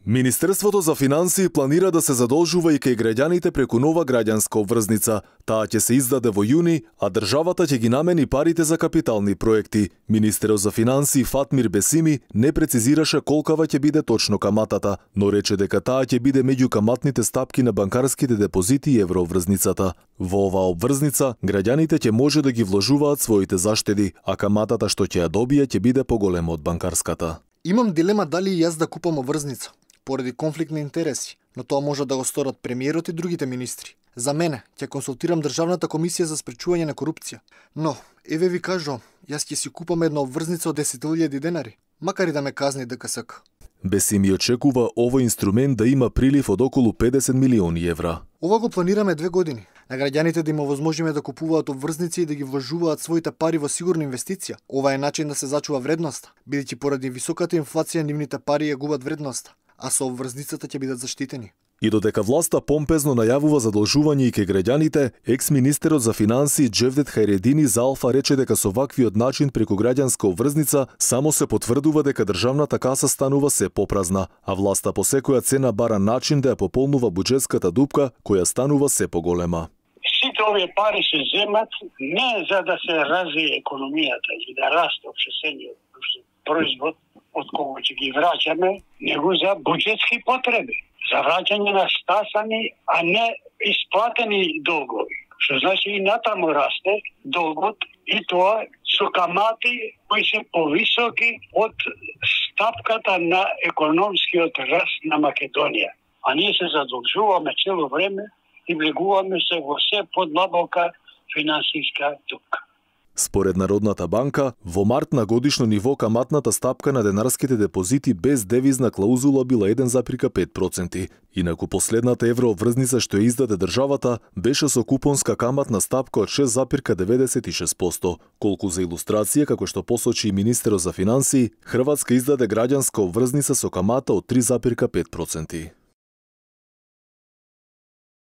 Министерството за финансии планира да се задолжува и кај граѓаните преку нова граѓанска обврзница. Таа ќе се издаде во јуни, а државата ќе ги намени парите за капитални проекти. Министерот за финансии Фатмир Бесими не прецизираше колкава ќе биде точно каматата, но рече дека таа ќе биде меѓу каматните стапки на банкарските депозити и еврообврзницата. Во оваа обврзница, граѓаните ќе може да ги вложуваат своите заштеди, а каматата што ќе ја добие ќе биде поголема од банкарската. Имам дилема дали и јас да купам обврзница, поради конфликт на интереси, но тоа може да го сторат премиерот и другите министри. За мене, ќе консултирам Државната комисија за спречување на корупција. Но, еве ви кажувам, јас ќе си купам една обврзница од 10.000 денари, макар и да ме казни ДКСК. Бесими очекува овој инструмент да има прилив од околу 50 милиони евра. Ова го планираме 2 години. На граѓаните да им овозможиме да купуваат обврзници и да ги вложуваат своите пари во сигурна инвестиција. Ова е начин да се зачува вредноста, бидејќи поради високата инфлација нивните пари ја губат вредноста, а со обврзницата ќе бидат заштитени. И додека власта помпезно најавува задолжување и кај граѓаните, екс-министерот за финансии Джевдет Хајредини за Алфа рече дека со ваквиот начин преку граѓанска обврзница само се потврдува дека државната каса станува се попразна, а власта по секоја цена бара начин да ја пополнува буџетската дупка која станува се поголема. Сите овие пари се земат не за да се развие економијата или да расте општествениот производ од кого ќе ги враќаме, него за буџетски потреби, за враќање на стасани, а не исплатени долгови. Што значи и натаму расте долгот и тоа со камати кои се повисоки од стапката на економскиот раст на Македонија. А ние се задолжуваме цело време и влегуваме се во се подлабока финансиска дупка. Според Народната банка, во март на годишно ниво каматната стапка на денарските депозити без девизна клаузула била 1,5%. Инаку последната еврообврзница што ја издаде државата беше со купонска каматна стапка од 6,96%. Колку за илустрација, како што посочи и министерот за финансии, Хрватска издаде граѓанска обврзница со камата од 3,5%.